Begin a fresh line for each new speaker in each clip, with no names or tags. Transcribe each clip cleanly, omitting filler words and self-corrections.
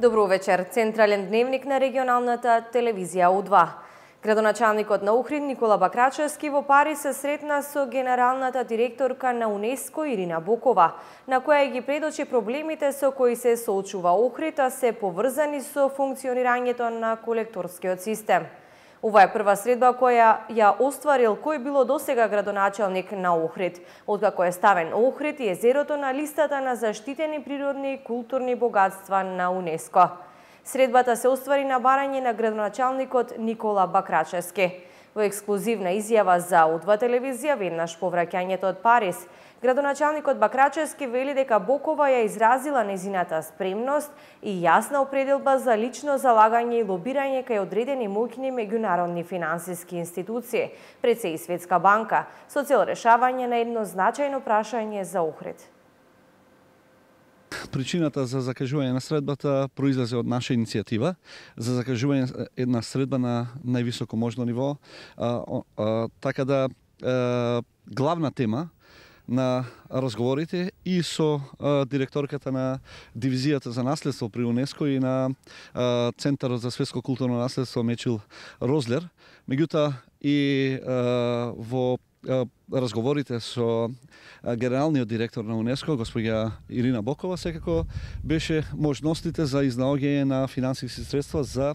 Добро вечер. Централен дневник на регионалната телевизија У2. Градоначалникот на Охрид Никола Бакрачевски во Париз се сретна со генералната директорка на УНЕСКО Ирина Бокова, на која ги предочи проблемите со кои се соочува Охрид, а се поврзани со функционирањето на колекторскиот систем. Ова е прва средба која ја остварил кој било досега градоначалник на Охрид, откако е ставен Охрид и езерото на листата на заштитени природни и културни богатства на УНЕСКО. Средбата се оствари на барање на градоначалникот Никола Бакрачевски. Во ексклузивна изјава за У2 телевизија веднаш по враќањето од Париз, градоначалникот Бакрачевски вели дека Бокова ја изразила незината спремност и јасна определба за лично залагање и лобирање кај одредени моќни меѓународни финансиски институции, пред се и Светска банка, со цел решавање на едно значајно прашање за Охрид.
Причината за закажување на средбата произлезе од наша иницијатива за закажување една средба на највисоко можно ниво, така да главна тема на разговорите и со директорката на дивизијата за наследство при УНЕСКО и на Центарот за светско културно наследство Мечил Розлер, меѓутоа и во разговорите со генералниот директор на УНЕСКО, господја Ирина Бокова, секако беше можностите за изнаоѓање на финансиски средства за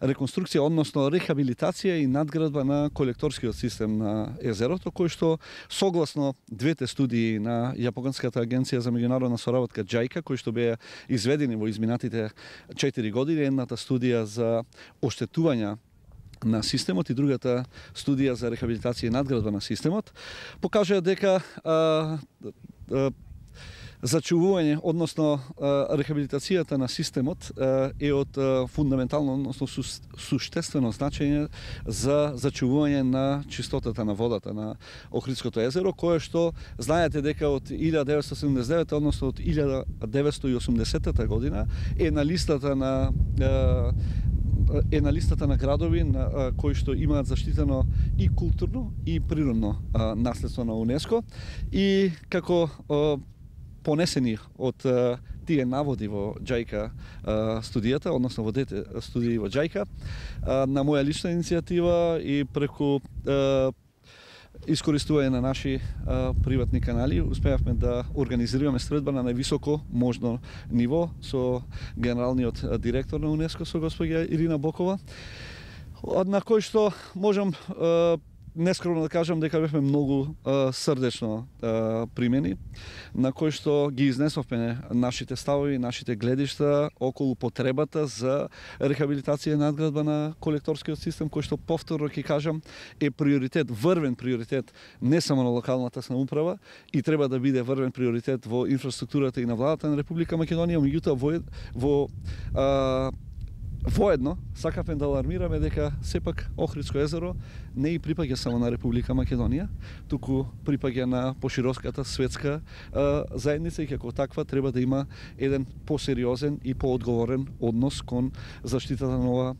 реконструкција, односно рехабилитација и надградба на колекторскиот систем на езерото, кој што согласно двете студии на Јапонската агенција за меѓународна соработка JICA, кои што беа изведени во изминатите 4 години, едната студија за оштетување на системот и другата студија за рехабилитација и надградба на системот, покажаа дека зачувување, односно рехабилитацијата на системот е од фундаментално, односно суштествено значење за зачувување на чистотата на водата на Охридското езеро, кое што знаете дека од 1979, односно од 1980 година е на листата на градови кои што имаат заштитено и културно и природно наследство на УНЕСКО, и како понесени од тие наводи во JICA студијата, односно во двете студии во JICA, на моја лична иницијатива и преку искористување на наши приватни канали, успеавме да организираме средба на највисоко можно ниво со генералниот директор на УНЕСКО, со господја Ирина Бокова, на кој што можам нескромно да кажам дека бевме многу срдечно примени, на кој што ги изнесовме нашите ставови, нашите гледишта околу потребата за рехабилитација и надградба на колекторскиот систем, кој што повторно ќе кажам е приоритет, врвен приоритет не само на локалната самоуправа и треба да биде врвен приоритет во инфраструктурата и на владата на Република Македонија, меѓутоа воедно сакавме да алармираме дека сепак Охридско езеро не и припаѓа само на Република Македонија, туку припаѓа на пошироката светска заедница и како таква треба да има еден посериозен и поодговорен однос кон заштитата на ова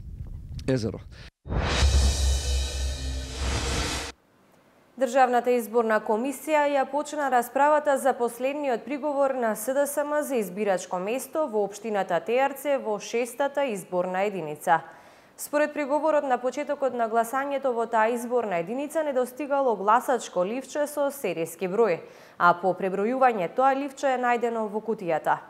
езеро.
Државната изборна комисија ја почна расправата за последниот приговор на СДСМ за избирачко место во општината Теарце во 6-та изборна единица. Според приговорот, на почетокот на гласањето во таа изборна единица недостигало гласачко ливче со серијски број, а по пребројување тоа ливче е најдено во кутијата.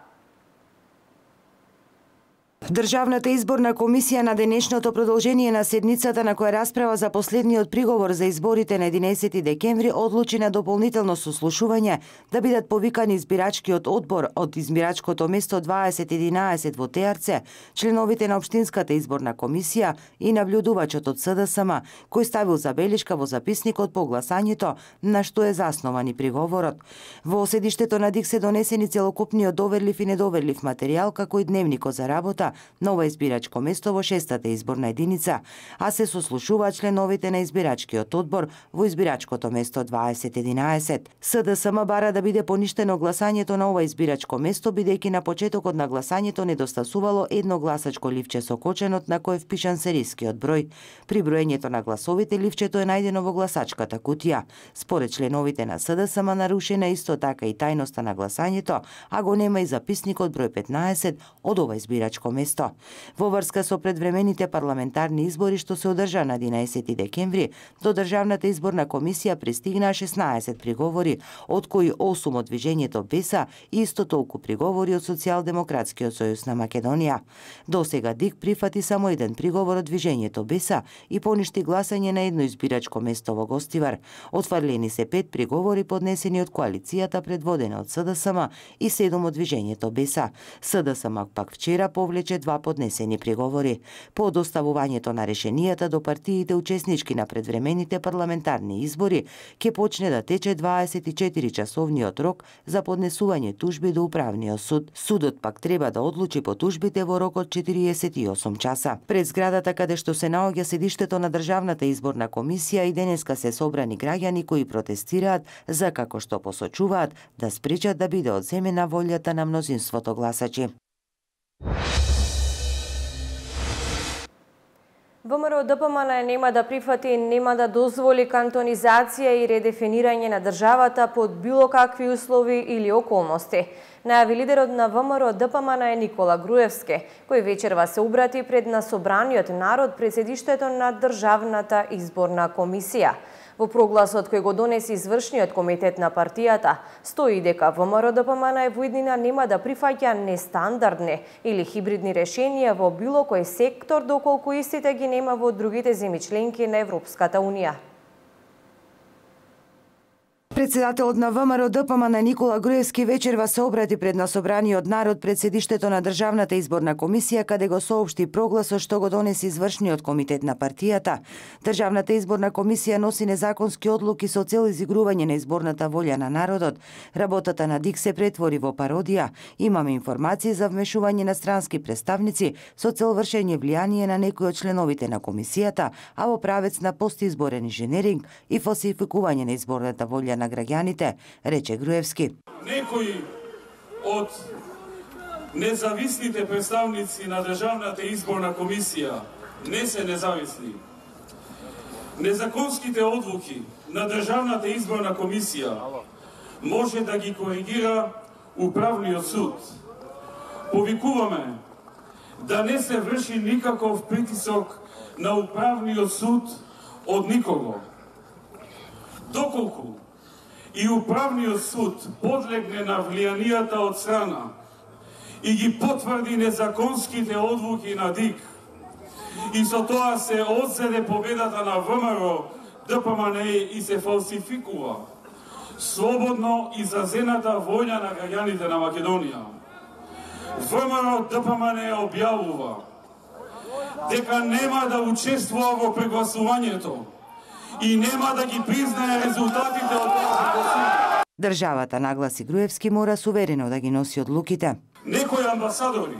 Државната изборна комисија на денешното продолжение на седницата на која расправа за последниот приговор за изборите на 11 декември одлучи на дополнително сослушување да бидат повикани избирачкиот одбор од избирачкото место 2011 во Теарце, членовите на општинската изборна комисија и нављудувачот од СДСМ, кој ставил забелешка во записникот по гласањето на што е заснован и приговорот. Во седиштето на ДИК се донесени целокупниот доверлив и недоверлив материјал, како и дневникот за работа нова избирачко место во 6-та изборна единица, а се сослушуваат членовите на избирачкиот одбор во избирачкото место 2011. СДСМ бара да биде поништено гласањето на ова избирачко место, бидејќи на почетокот на гласањето недостасувало едно гласачко ливче со коченот на кој е впишан серискиот број. При броењето на гласовите ливчето е најдено во гласачката кутија. Според членовите на СДСМ нарушена исто така и тајноста на гласањето, а го нема и записникот број 15 од ова избирачко место. Во врска со предвремените парламентарни избори што се одржа на 11 декември, до Државната изборна комисија пристигнаа 16 приговори, од кои 8 од движењето БЕСА и исто толку приговори од Социјалдемократскиот сојуз на Македонија. Досега ДИК прифати само еден приговор од движењето БЕСА и поништи гласање на едно избирачко место во Гостивар. Отфрлени се 5 приговори поднесени од коалицијата предводена од СДСМ и 7 од движењето БЕСА. СДСМ пак вчера повлече 2 поднесени приговори. По доставувањето на решенијата до партиите учеснички на предвремените парламентарни избори ќе почне да тече 24-часовниот рок за поднесување тужби до Управниот суд. Судот пак треба да одлучи по тужбите во рок од 48 часа. Пред зградата каде што се наоѓа седиштето на Државната изборна комисија и денеска се собрани граѓани кои протестираат за, како што посочуваат, да спречат да биде одземена волјата на мнозинството гласачи.
ВМРО ДПМН нема да прифати и нема да дозволи кантонизација и редефинирање на државата под било какви услови или околности. Најави лидерот на ВМРО ДПМН Никола Груевски, кој вечерва се обрати пред на собраниот народ пред седиштето на Државната изборна комисија. Во прогласот кој го донеси извршниот комитет на партијата, стои дека ВМРО ДПМН во иднина нема да прифаќа нестандардни или хибридни решенија во било кој сектор, доколку истите ги нема во другите земји членки на Европската унија.
Председателот на ВМРО ДПМН Никола Груевски вечерва се обрати пред на собраниот народ пред седиштето на Државната изборна комисија, каде го соопшти прогласот што го донеси извршниот комитет на партијата. Државната изборна комисија носи незаконски одлуки со цел изигрување на изборната волја на народот. Работата на ДИК се претвори во пародија. Имаме информации за вмешување на странски представници со цел вршење влијание на некои од членовите на комисијата, а во правец на постизборен инженеринг и фалсификување на изборната волја на граѓаните, рече Груевски.
Некои од независните представници на Државната изборна комисија не се независни. Незаконските одлуки на Државната изборна комисија може да ги коригира Управниот суд. Повикуваме да не се врши никаков притисок на Управниот суд од никого. Доколку и Управниот суд подлегне на влијанијата од страна и ги потврди незаконските одлуки на ДИК и со тоа се одзеде победата на ВМРО ДПМН и се фалсификува слободно изразената волја на граѓаните на Македонија, ВМРО ДПМН објавува дека нема да учествува во прегласувањето и нема да ги признае резултатите од тоа прегласување.
Државата, нагласи Груевски, мора суверено да ги носи одлуките.
Некои амбасадори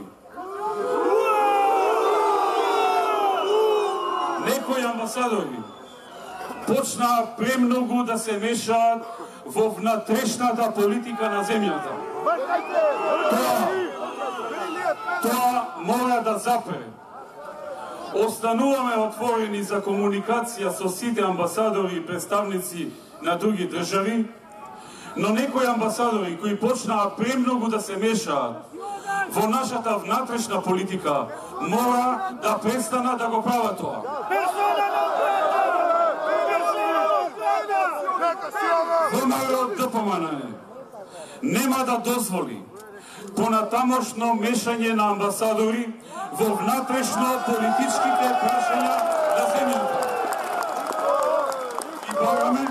почнаа премногу да се мешаат во внатрешната политика на земјата. Тоа мора да запре. Остануваме отворени за комуникација со сите амбасадори и представници на други држави, но некои амбасадори кои почнаа премногу да се мешаат во нашата внатрешна политика мора да престанат да го прават тоа. ВМРО ДПМН нема да дозволи понатамошно мешање на амбасадори во внатрешно политичките прашања на земјата. И бараме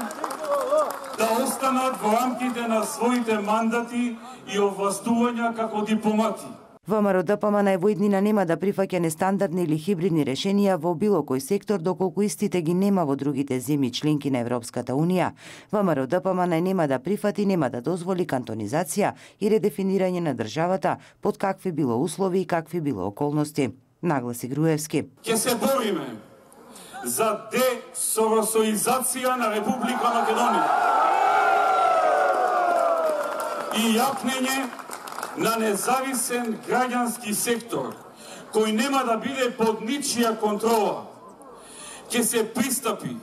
да останат во рамките на своите мандати и овластувања како дипломати.
ВМРО ДПМН во иднина нема да прифаќа нестандардни или хибридни решенија во било кој сектор, доколку истите ги нема во другите земји членки на Европската Унија. ВМРО ДПМН нема да прифати, нема да дозволи кантонизација и редефинирање на државата под какви било услови и какви било околности, нагласи Груевски.
Ќе се бориме за десоросоизација на Република Македонија и јапнење на независен граѓански сектор кој нема да биде под ничија контрола. Ќе се пристапи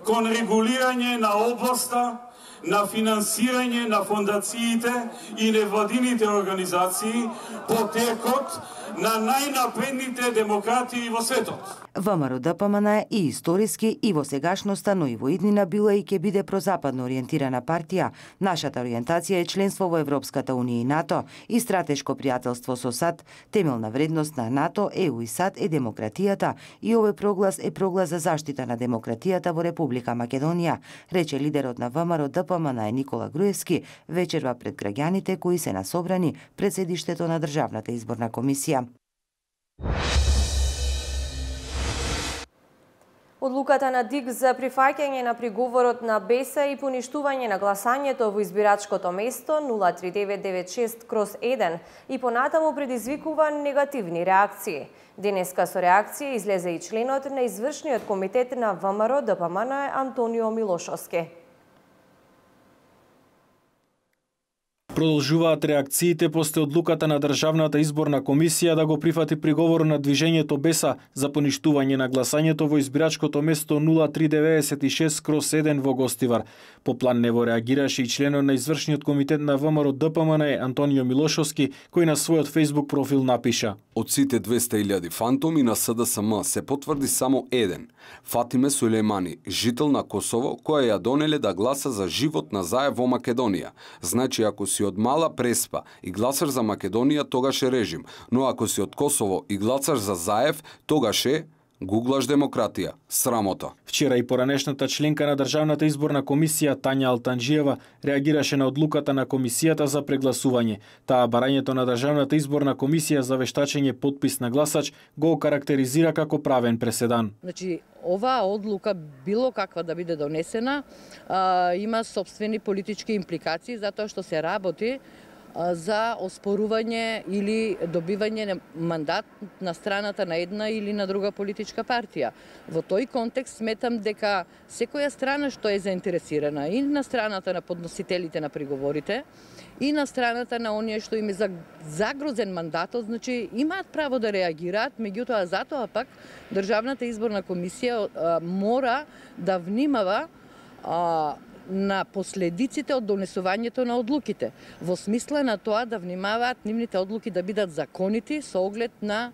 кон регулирање на областа на финансирање на фондациите и невладините организации по текот на најнапредните демократии во светот.
ВМРО ДПМН е и историски и во сегашноста, но и во иднина била и ќе биде прозападно ориентирана партија. Нашата ориентација е членство во Европската Унија и НАТО и стратешко пријателство со САД. Темелна вредност на НАТО, ЕУ и САД е демократијата и овој проглас е проглас за заштита на демократијата во Република Македонија, рече лидерот на ВМРО ДПМН Никола Груевски вечерва пред граѓаните кои се насобрани пред седиштето на Државната изборна комисија.
Одлуката на ДИК за прифаќање на приговорот на БЕСА и поништување на гласањето во избирачкото место 03996/1 и понатаму предизвикува негативни реакции. Денеска со реакција излезе и членот на извршниот комитет на ВМРО ДПМН Антонио Милошовски.
Продолжуваат реакциите после одлуката на Државната изборна комисија да го прифати приговор на движењето БЕСА за поништување на гласањето во избирачкото место 03996/1 во Гостивар. По план нево реагираше и членот на извршниот комитет на ВМРО ДПМН Антонио Милошовски, кој на својот Facebook профил напиша:
Од сите 200.000 фантоми на СДСМ се потврди само еден. Фатиме Сулејмани, жител на Косово, која ја донеле да гласа за живот на Заев во Македонија. Значи, ако си од мала Преспа и гласаш за Македонија, тогаш е режим, но ако си од Косово и гласаш за Заев, тогаш е гуглаш демократија. Срамота.
Вчера и поранешната членка на Државната изборна комисија Тања Алтанџиева реагираше на одлуката на комисијата за прегласување. Таа барањето на Државната изборна комисија за вештачење потпис на гласач го карактеризира како правен преседан.
Значи, оваа одлука, било каква да биде донесена, има собствени политички импликации, затоа што се работи за оспорување или добивање на мандат на страната на една или на друга политичка партија. Во тој контекст сметам дека секоја страна што е заинтересирана и на страната на подносителите на приговорите и на страната на оние што им е загрозен мандатот, значи имаат право да реагираат, меѓутоа затоа пак Државната изборна комисија мора да внимава на последиците од донесувањето на одлуките, во смисла на тоа да внимаваат нивните одлуки да бидат законити со оглед на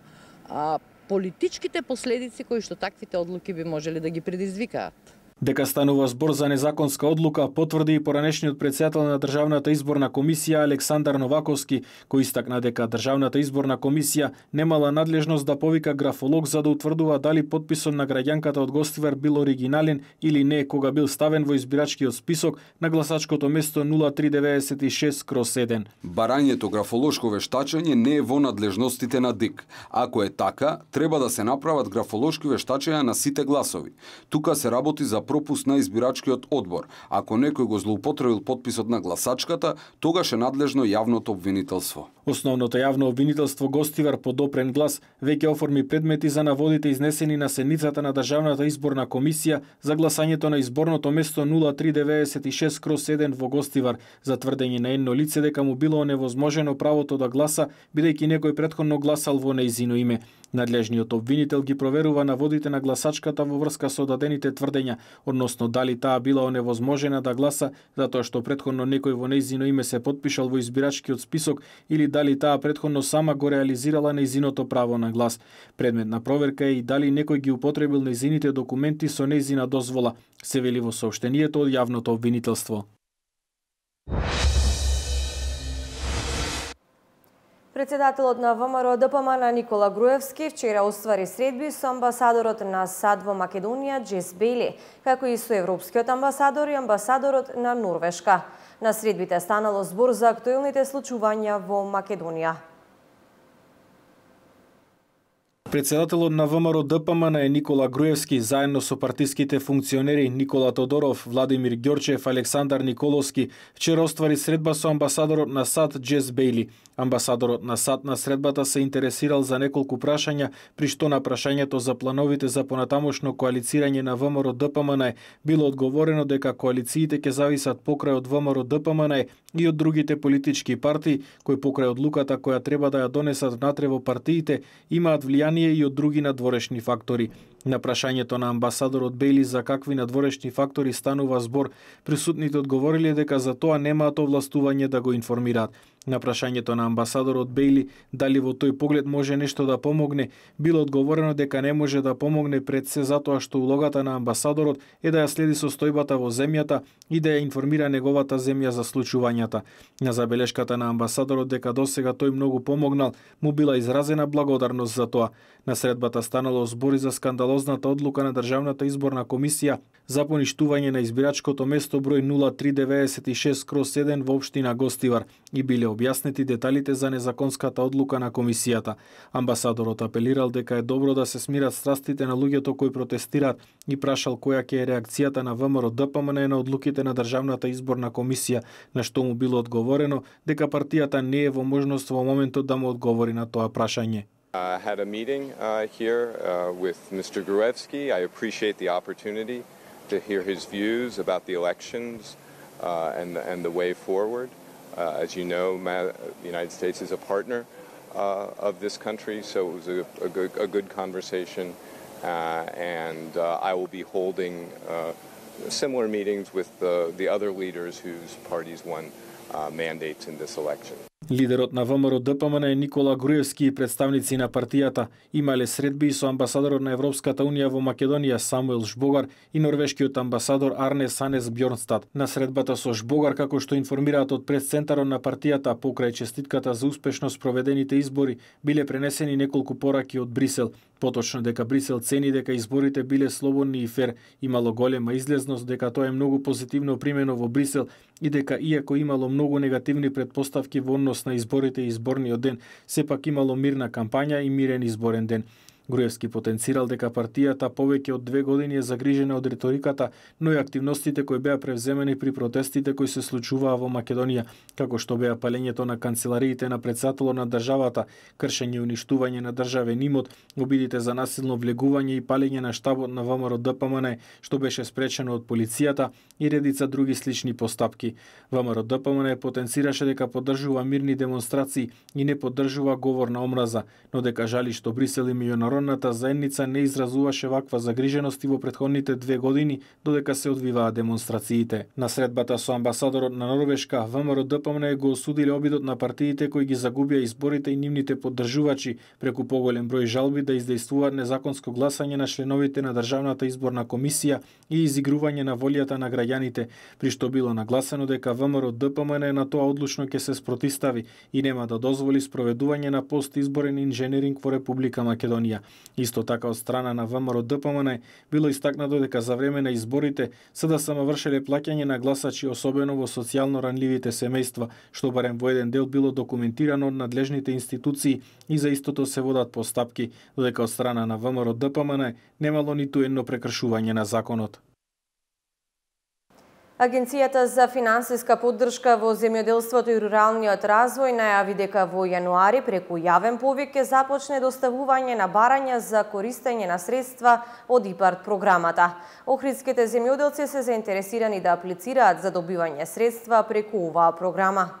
политичките последици кои што таквите одлуки би можеле да ги предизвикаат.
Дека станува збор за незаконска одлука потврди и поранешниот претседател на Државната изборна комисија Александар Новаковски, кој истакна дека Државната изборна комисија немала надлежност да повика графолог за да утврдува дали потписот на граѓанката од Гостивар бил оригинален или не кога бил ставен во избирачкиот список на гласачкото место 03996/1.
Барањето графолошко вештачење не е во надлежностите на ДИК. Ако е така, треба да се направат графолошки вештачења на сите гласови. Тука се работи за пропуст на избирачкиот одбор. Ако некој го злоупотребил потписот на гласачката, тогаш е надлежно јавното обвинителство.
Основното јавно обвинителство Гостивар по допрен глас веќе оформи предмети за наводите изнесени на седницата на Државната изборна комисија за гласањето на изборното место 03996/1 во Гостивар за тврдење на едно лице дека му било оневозможено правото да гласа бидејќи некој претходно гласал во нејзино име. Надлежниот обвинител ги проверува наводите на гласачката во врска со дадените тврдења, односно дали таа била оневозможена да гласа затоа што претходно некој во нејзино име се потпишал во избирачкиот список или дали таа претходно сама го реализирала нејзиното право на глас. Предмет на проверка е и дали некој ги употребил нејзините документи со нејзина дозвола, се вели во соопштението од јавното обвинителство.
Председателот на ВМРО ДПМН Никола Груевски вчера оствари средби со амбасадорот на САД во Македонија Джес Бейли, како и со европскиот амбасадор и амбасадорот на Норвешка. На средбите станало збор за актуелните случувања во Македонија.
Председателот на ВМРО ДПМН е Никола Груевски, заедно со партиските функционери Никола Тодоров, Владимир Ѓорчев, Александар Николовски, вчера оствари средба со амбасадорот на САД Джес Бејли. Амбасадорот на САД на средбата се интересирал за неколку прашања, при што на прашањето за плановите за понатамошно коалицирање на ВМРО ДПМН било одговорено дека коалициите ќе зависат покрај од ВМРО ДПМН и од другите политички партии, кои покрај одлуката која треба да ја донесат внатре во партиите, имаат влијание и од други надворешни фактори. На прашањето на амбасадорот Бејли за какви надворешни фактори станува збор, присутните одговориле дека за тоа немаат овластување да го информираат. На прашањето на амбасадорот Бејли дали во тој поглед може нешто да помогне, било одговорено дека не може да помогне пред се затоа што улогата на амбасадорот е да ја следи состојбата во земјата и да ја информира неговата земја за случувањата. На забелешката на амбасадорот дека досега тој многу помогнал, му била изразена благодарност за тоа. На средбата станало збори за скандалозната одлука на Државната изборна комисија за поништување на избирачкото место број 0396/1 во општина Гостивар и биле објаснети деталите за незаконската одлука на комисијата. Амбасадорот апелирал дека е добро да се смират страстите на луѓето кои протестираат и прашал која ќе е реакцијата на ВМРО ДПМН на одлуките на Државната изборна комисија, на што му било одговорено дека партијата не е во можност во моментот да му одговори на тоа прашање.
I had a meeting here with Mr. Gruevski. I appreciate the opportunity to hear his views about the elections and the way forward. As you know, the United States is a partner of this country, so it was a good conversation, and I will be holding similar meetings with the other leaders whose parties won mandates in this election.
Лидерот на ВМРО ДПМН е Никола Груевски и представници на партијата имале средби со амбасадорот на Европската унија во Македонија Самуел Жбогар и норвешкиот амбасадор Арне Санес Бјорнстад. На средбата со Жбогар, како што информираат од пресцентарот на партијата покрај честитката за успешно спроведените избори, биле пренесени неколку пораки од Брисел. Поточно дека Брисел цени дека изборите биле слободни и фер, имало голема излезност, дека тоа е многу позитивно примено во Брисел и дека иако имало многу негативни претпоставки во однос на изборите и изборниот ден, сепак имало мирна кампања и мирен изборен ден. Груевски потенцирал дека партијата повеќе од 2 години е загрижена од риториката, но и активностите кои беа превземени при протестите кои се случуваа во Македонија, како што беа палењето на канцелариите на председателот на државата, кршење и уништување на државен имот, обидите за насилно влегување и палење на штабот на ВМРО ДПМН, што беше спречено од полицијата и редица други слични постапки. ВМРО ДПМН потенцираше дека поддржува мирни демонстрации и не поддржува говор на омраза, но дека жали што Брисел и меѓународната заедница не изразуваше ваква загриженост и во претходните 2 години додека се одвиваа демонстрациите. На средбата со амбасадорот на Норвешка, ВМРО ДПМН го осудиле обидот на партиите кои ги загубија изборите и нивните поддржувачи преку поголем број жалби да издействуваат незаконско гласање на членовите на Државната изборна комисија и изигрување на волјата на граѓаните, при што било нагласено дека ВМРО ДПМН на тоа одлучно ќе се спротистави и нема да дозволи спроведување на постизборен инженеринг во Република Македонија. Исто така од страна на ВМРО ДПМН било истакнато дека за време на изборите се да самовршеле плаќање на гласачи, особено во социјално ранливите семејства, што барем во еден дел било документирано од надлежните институции и за истото се водат постапки, додека од страна на ВМРО ДПМН немало ниту едно прекршување на законот.
Агенцијата за финансиска поддршка во земјоделството и руралниот развој најави дека во јануари преку јавен повик ќе започне доставување на барања за користење на средства од ИПАРД програмата. Охридските земјоделци се заинтересирани да аплицираат за добивање средства преку оваа програма.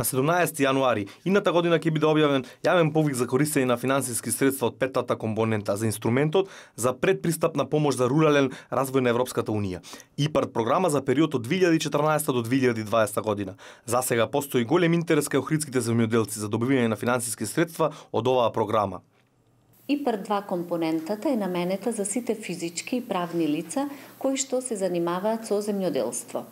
На 17 јануари идната година ќе биде објавен јавен повик за користење на финансиски средства од петтата компонента за инструментот за предпристапна помош за рурален развој на Европската унија. ИПАРД програма за период од 2014 до 2020 година. За сега постои голем интерес кај охридските земјоделци за добивање на финансиски средства од оваа програма.
ИПАРД 2 компонентата е наменета за сите физички и правни лица кои што се занимаваат со земјоделство.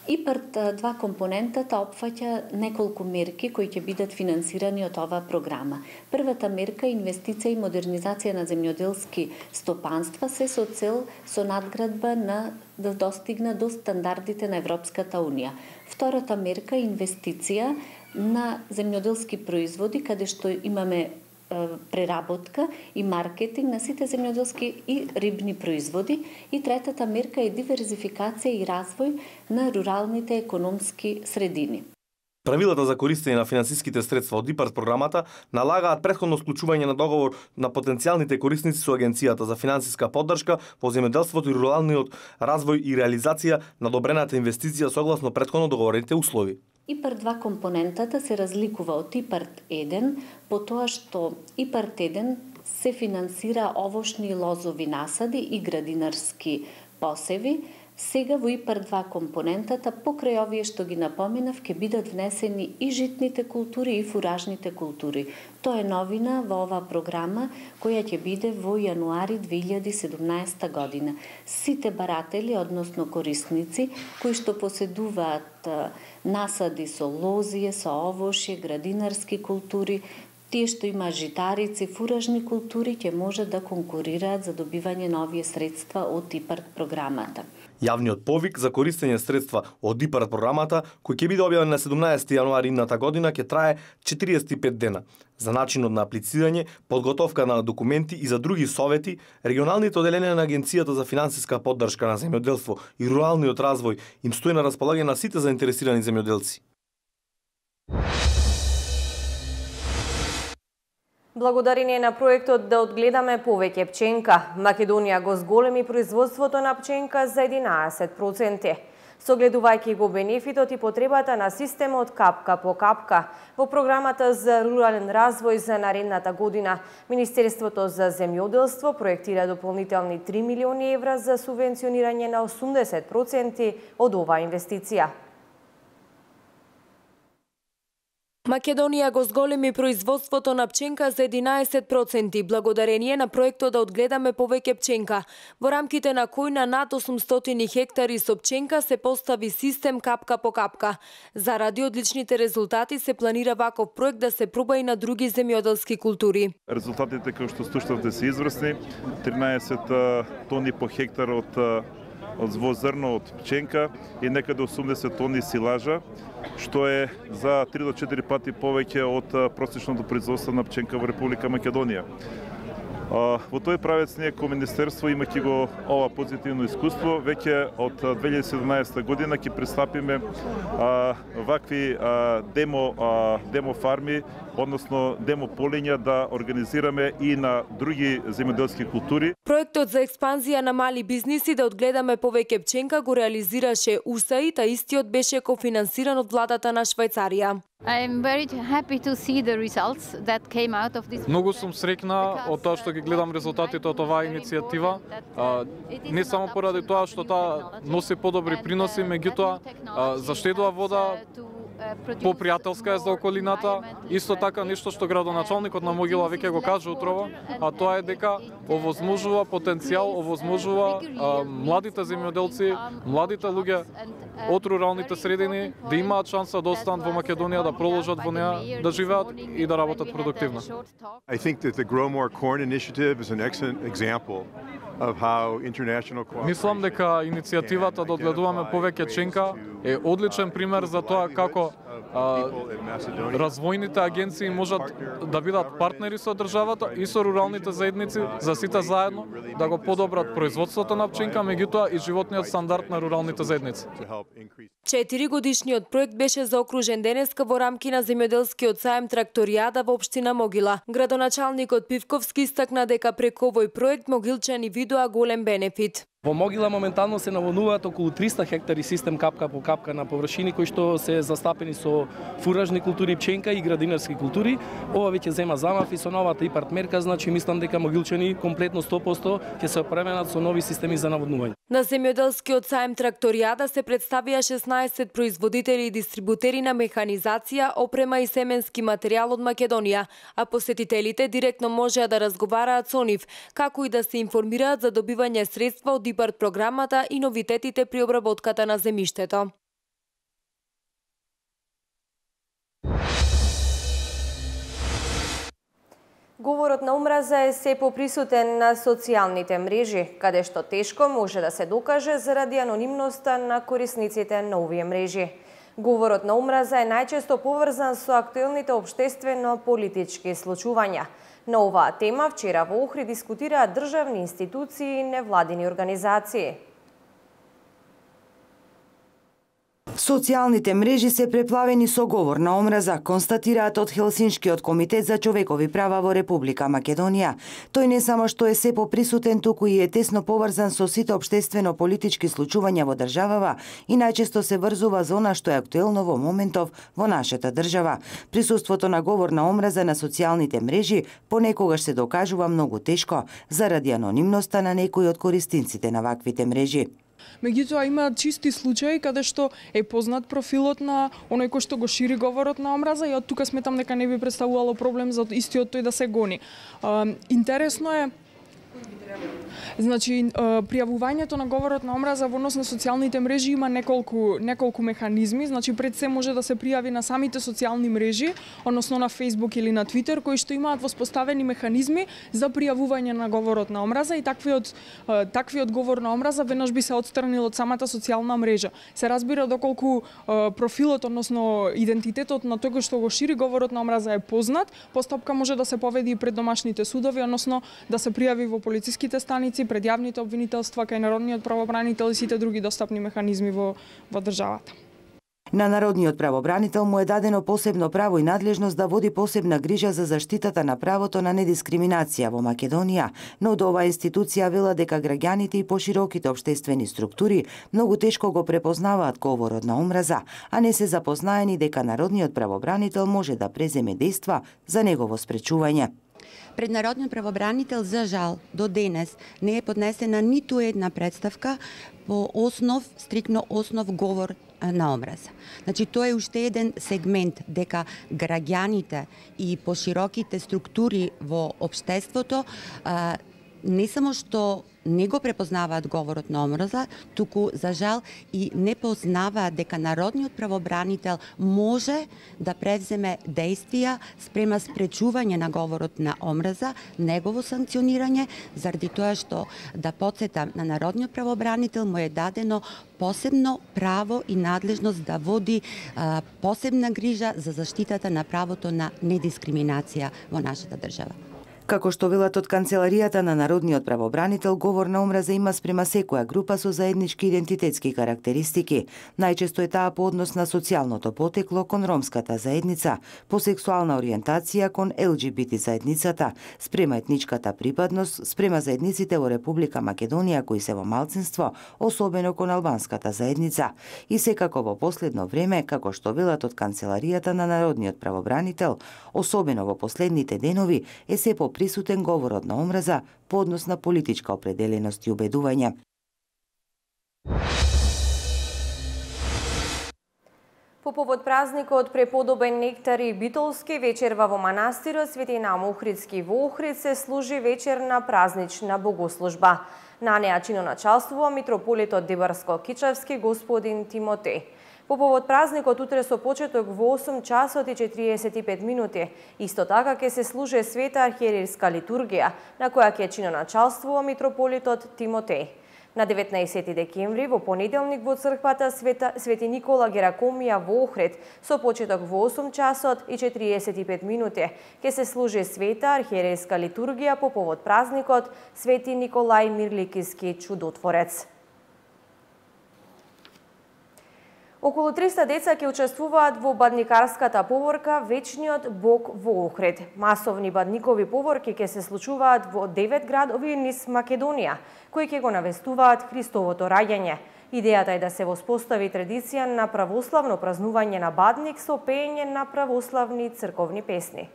ИПАРД 2 компонентата опфаќа неколку мерки кои ќе бидат финансирани од оваа програма. Првата мерка е инвестиција и модернизација на земјоделски стопанства се со цел со надградба на да достигне до стандардите на Европската унија. Втората мерка е инвестиција на земјоделски производи, каде што имаме преработка и маркетинг на сите земјоделски и рибни производи. И третата мерка е диверзификација и развој на руралните економски средини.
Правилата за користење на финансиските средства од ИПАРД програмата налагаат претходно склучување на договор на потенцијалните корисници со Агенцијата за финансиска поддршка по земјоделството и руралниот развој и реализација на одобрената инвестиција согласно претходно договорените услови.
ИПАРД 2 компонентата се разликува од ИПАРД 1 по тоа што ИПАРД 1 се финансира овошни лозови насади и градинарски посеви. Сега во ИПАРД 2 компонентата, покрај овие што ги напоменав, ќе бидат внесени и житните култури и фуражните култури. Тоа е новина во оваа програма која ќе биде во јануари 2017 година. Сите баратели, односно корисници, кои што поседуваат насади со лозие, со овошје, градинарски култури, тие што има житарици, фуражни култури, ќе може да конкурираат за добивање на овие средства од ИПАРД програмата.
Јавниот повик за користење средства од ИПАРД програмата, кој ќе биде објавен на 17 јануари идната година, ќе трае 45 дена. За начинот на аплицирање, подготовка на документи и за други совети, регионалните оделенија на Агенцијата за финансиска поддршка на земјоделство и руралниот развој им стои на располагање на сите заинтересирани земјоделци.
Благодарение на проектот да одгледаме повеќе пченка, Македонија го зголеми производството на пченка за 11%. Согледувајќи го бенефитот и потребата на системот капка по капка, во програмата за рурален развој за наредната година, Министерството за земјоделство проектира дополнителни 3 милиони евра за субвенционирање на 80% од оваа инвестиција.
Македонија го зголеми производството на пченка за 11% благодарение на проектот да одгледаме повеќе пченка, во рамките на кој на над 800 хектари со пченка се постави систем капка по капка. Заради одличните резултати се планира ваков проект да се проба и на други земјоделски култури.
Резултатите кои што слушнавте се изврсни, 13 тони по хектар од зрно од пченка и некаде 80 тони силажа, што е за 3 до 4 пати повеќе од просечното производство на пченка во Република Македонија. Во тој правец ние како Министерство, имајќи го ова позитивно искуство, веќе од 2017 година ќе пристапиме вакви демо фарми, односно демо полиња да организираме и на други земјоделски култури.
Проектот за експанзија на мали бизниси да одгледаме повеќе пченка го реализираше УСАИД, а истиот беше кофинансиран од владата на Швајцарија.
Многу сум среќна од тоа што ги гледам резултатите од оваа иницијатива. Не само поради тоа што таа носи подобри приноси, меѓутоа заштедува вода, попријателска е за околината, исто така нешто што градоначалникот на Могила веќе го кажа утрово, а тоа е дека овозможува потенцијал, овозможува младите земјоделци, младите луѓе од руралните средини да имаат шанса да останат во Македонија, да продолжат во неа, да живеат и да работат продуктивно.
I think that the Grow More Corn initiative is an excellent example of how international cooperation.
Мислам дека иницијативата да одгледуваме повеќе пченка е одличен пример за тоа како развојните агенции можат да бидат партнери со државата и со руралните заедници за сите заедно да го подобрат производството на пченка, меѓутоа и животниот стандард на руралните заедници.
4-годишниот проект беше заокружен денеска во рамки на земјоделскиот саем Тракторијада во општина Могила. Градоначалникот Пивковски истакна дека преку овој проект могилчани видоа голем бенефит.
Во Могила моментално се наводнуваат околу 300 хектари систем капка по капка на површини кои што се застапени со фуражни култури, пченка и градинарски култури. Ова веќе зема замав и со новата ИПАРД мерка, значи мислам дека могилчани комплетно 100% ќе се опременат со нови системи за наводнување.
На земјоделскиот саем Тракторијада се представија 16 производители и дистрибутери на механизација, опрема и семенски материјал од Македонија, а посетителите директно можеа да разговараат со нив, како и да се информираат за добивање средства од ИПАРД програмата и новитетите при обработката на земјиштето.
Говорот на омраза е се поприсутен на социјалните мрежи, каде што тешко може да се докаже заради анонимноста на корисниците на овие мрежи. Говорот на омраза е најчесто поврзан со актуелните општествено-политички случувања. На оваа тема вчера во Охрид дискутираат државни институции и невладини организации.
Социјалните мрежи се преплавени со говор на омраза, констатираат од Хелсиншкиот комитет за човекови права во Република Македонија. Тој не само што е се поприсутен, туку и е тесно поврзан со сите општествено-политички случувања во државава и најчесто се врзува за она што е актуелно во моментов во нашата држава. Присуството на говор на омраза на социјалните мрежи понекогаш се докажува многу тешко заради анонимноста на некои од користинците на ваквите мрежи.
Меѓутоа има чисти случаи каде што е познат профилот на оној кој што го шири говорот на омраза и од тука сметам дека не би представувало проблем за истиот тој да се гони. Интересно е значи пријавувањето на говорот на омраза во однос на социјалните мрежи има неколку механизми, значи пред се може да се пријави на самите социјални мрежи, односно на Facebook или на Twitter, кои што имаат воспоставени механизми за пријавување на говорот на омраза и таквиот говор на омраза веднаш би се отстранил од самата социјална мрежа. Се разбира доколку профилот, односно идентитетот на тој кој што го шири говорот на омраза е познат, постапка може да се поведи и пред домашните судови, односно да се пријави во полициските станици, пред јавните обвинителства, кај народниот правобранител и сите други достапни механизми во државата.
На народниот правобранител му е дадено посебно право и надлежност да води посебна грижа за заштитата на правото на недискриминација во Македонија, но од оваа институција вела дека граѓаните и пошироките општествени структури многу тешко го препознаваат говорот на омраза, а не се запознаени дека народниот правобранител може да преземе дејства за негово спречување.
Пред народниот правобранител, за жал, до денес не е поднесена ниту една представка по стрикно основ говор на омраза. Значи, тоа е уште еден сегмент дека граѓаните и пошироките структури во општеството не само што не го препознаваат говорот на омраза, туку, за жал, и не познаваат дека народниот правобранител може да превземе действија спрема спречување на говорот на омраза, негово санкционирање, заради тоа што, да потсетам, на народниот правобранител му е дадено посебно право и надлежност да води посебна грижа за заштитата на правото на недискриминација во нашата држава.
Како што велат од Канцеларијата на народниот правобранител, говор на омраза има спрема секоја група со заеднички идентитетски карактеристики. Најчесто е таа по однос на социјалното потекло кон ромската заедница, по сексуална ориентација кон ЛГБТ заедницата, спрема етничката припадност, спрема заедниците во Република Македонија кои се во малцинство, особено кон албанската заедница. И секако во последно време, како што велат од Канцеларијата на народниот правобранител, особено во последните денови, е се присутен говорот на омраза по однос на политичка определеност и убедување.
По повод празникот преподобен нектар и битолски, вечерва во манастирот Свети Наум Охридски во Охрид се служи вечерна празнична богослужба. На неа чиноначалствува митрополитот Дебарско-Кичевски господин Тимотеј. По повод празникот утре со почеток во 8 часот и 45 минути. Исто така ќе се служе света архиерейска литургија, на која ќе чиноначалствува митрополитот Тимотеј. На 19 декември во понеделник во црквата Свети Никола Геракомија во Охрид со почеток во 8 часот и 45 минути ќе се служи света архиерейска литургија по повод празникот Свети Николај Мирликиски чудотворец. Околу 300 деца ќе учествуваат во бадникарската поворка Вечниот Бог во Охрид. Масовни бадникови поворки ќе се случуваат во 9 градови низ Македонија, кои ќе го навестуваат Христовото раѓање. Идејата е да се воспостави традиција на православно празнување на бадник со пеење на православни црковни песни.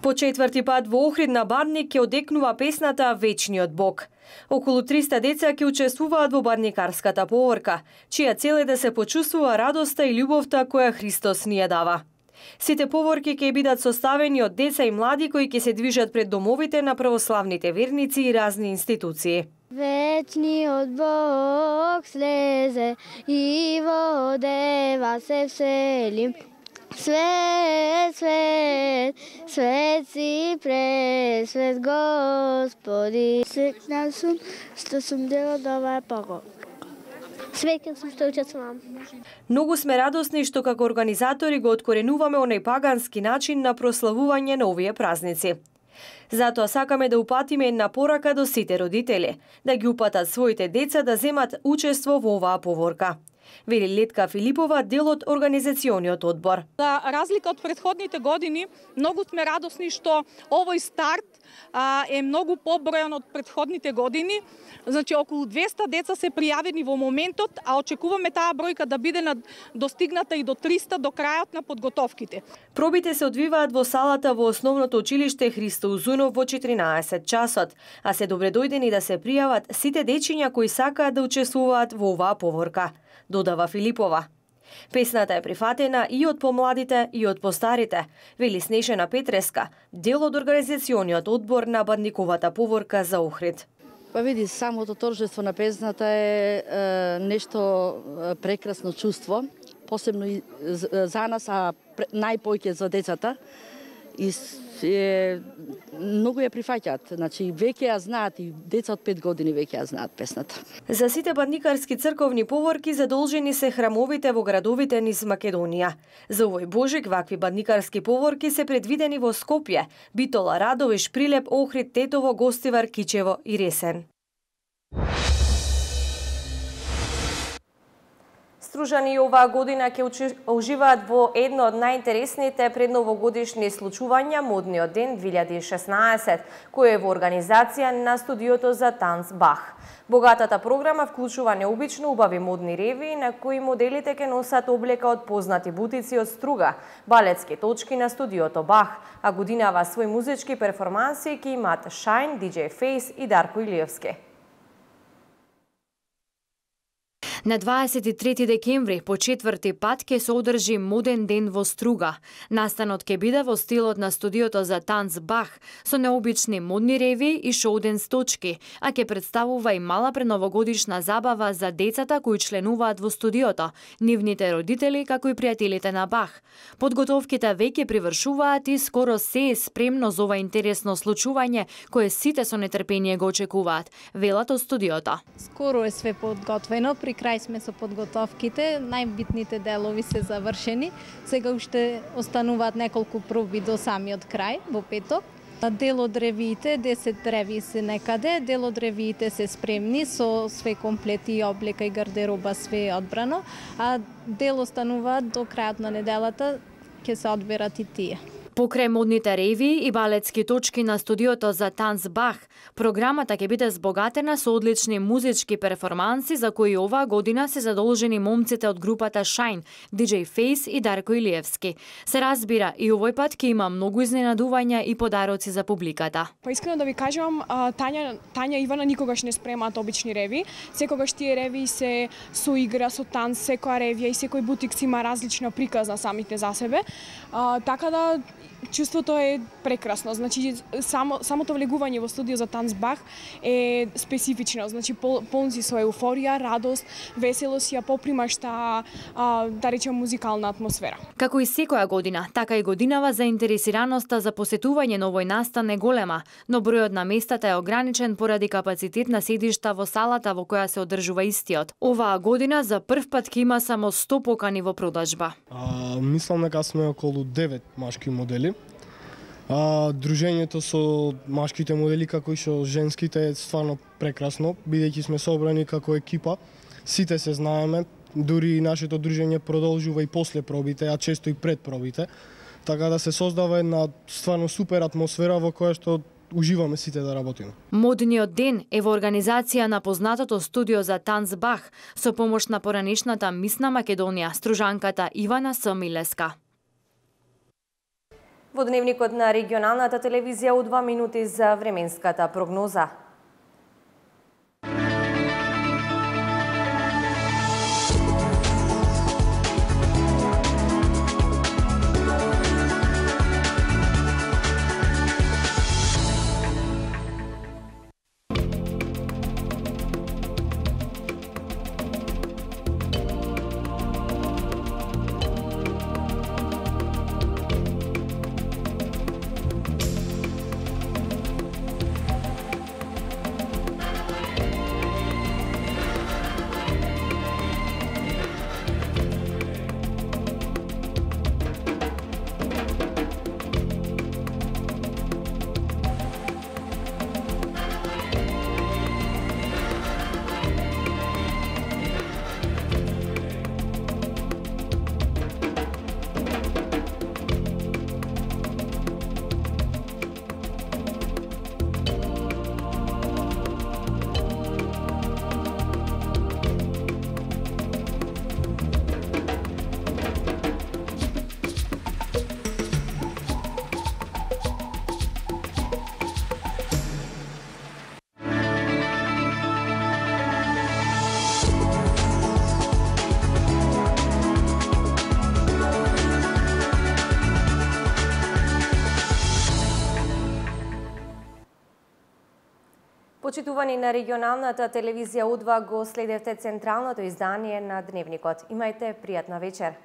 По четврти пат во Охрид на бадник ќе одекнува песната Вечниот Бог. Околу 300 деца ќе учествуваат во бадникарската поворка, чија цел е да се почувствува радоста и љубовта која Христос ни ја дава. Сите поворки ќе бидат составени од деца и млади кои ќе се движат пред домовите на православните верници и разни институции.
Вечниот Бог слезе и во дева се всели. Свет, свет, свет си пресвет Господи. Среќна сум што сум дел од оваа поворка. Среќен сум што учествувам.
Многу сме радосни што како организатори го откоренуваме оној пагански начин на прославување на овие празници. Затоа сакаме да упатиме една порака до сите родители, да ги упатат своите деца да земат учество во оваа поворка. Вели Летка Филипова, дел од организациониот одбор.
За разлика од претходните години, многу сме радосни што овој старт е многу побројан од претходните години. Значи, околу 200 деца се пријавени во моментот, а очекуваме таа бројка да биде достигната и до 300 до крајот на подготовките.
Пробите се одвиваат во салата во Основното училиште Христо Узунов во 14 часот, а се добредојдени да се пријават сите дечиња кои сакаат да учествуваат во оваа поворка, додава Филипова. Песната е прифатена и од помладите и од постарите, вели Снежана Петреска, дел од организациониот одбор на Бандниковата поворка за Охрид.
Па види, самото торжество на песната е нешто прекрасно чувство, посебно и за нас, а најпоќе за децата. И многу ја прифаќаат, значи веќе ја знаат и деца од 5 години веќе ја знаат песната.
За сите бандникарски црковни поворки задолжени се храмовите во градовите низ Македонија. За овој Божик вакви бандникарски поворки се предвидени во Скопје, Битола, Радовиш, Прилеп, Охрид, Тетово, Гостивар, Кичево и Ресен. Стружани оваа година ќе уживаат во едно од најинтересните предновогодишни случувања Модниот ден 2016, кој е во организација на студиото за танц Бах. Богатата програма вклучува необично убави модни ревии на кои моделите ќе носат облека од познати бутици од Струга, балетски точки на студиото Бах, а годинава свој музички перформанси ќе имаат Shine, DJ Face и Дарко Илиевски.
На 23 декември по четврти пат ќе се одржи Моден ден во Струга. Настанот ќе биде во стилот на студиото за танц Бах, со необични модни реви и шоуден точки, а ќе представува и мала преновогодишна забава за децата кои членуваат во студиото, нивните родители како и пријателите на Бах. Подготовките веќе привршуваат и скоро се е спремно за ова интересно случување кое сите со нетрпение го очекуваат, велат од студиото.
Скоро е све подготвено, при крај сме со подготовките, најбитните делови се завршени. Сега уште остануваат неколку проби до самиот крај, во петок. Дел од ревиите, 10 ревии се некаде, дел од ревиите се спремни со све комплети и облека и гардероба, све е одбрано, а дел остануваат до крајот на неделата, ќе се одберат и тие.
Покрај модните ревии и балетски точки на студиото за танц Бах, програмата ќе биде збогатена со одлични музички перформанси за кои оваа година се задолжени момците од групата Shine, DJ Face и Дарко Илиевски. Се разбира, и овој пат ќе има многу изненадувања и подароци за публиката.
Па искрено да ви кажам, Тања и Ивана никогаш не спремаат обични ревии. Секогаш тие ревии се со игра, со танц, секоја ревија и секој бутик си има различна приказна самите за себе. Така да чувството е прекрасно. Значи самото влегување во студио за танц Бах е специфично. Значи полн си со еуфорија, радост, веселост, ја попримаш таа да речем музикална атмосфера.
Како и секоја година, така и годинава заинтересираноста за посетување на овој настан е голема, но бројот на местата е ограничен поради капацитет на седишта во салата во која се одржува истиот. Оваа година за прв пат ќе има само 100 покани во продажба.
Мислам дека сме околу 9 машки модели. Дружењето со машките модели како и со женските е стварно прекрасно, бидејќи сме собрани како екипа. Сите се знаеме, дури и нашето дружење продолжува и после пробите, а често и пред пробите. Така да се создава една стварно супер атмосфера во која што уживаме сите да работиме.
Модниот ден е во организација на познатото студио за танц Бах со помош на поранешната мис на Македонија, стружанката Ивана Самилеска.
Во дневникот на регионалната телевизија у 2 минути за временската прогноза. Почитувани на регионалната телевизија У2 го следевте централното издание на Дневникот. Имајте пријатна вечер.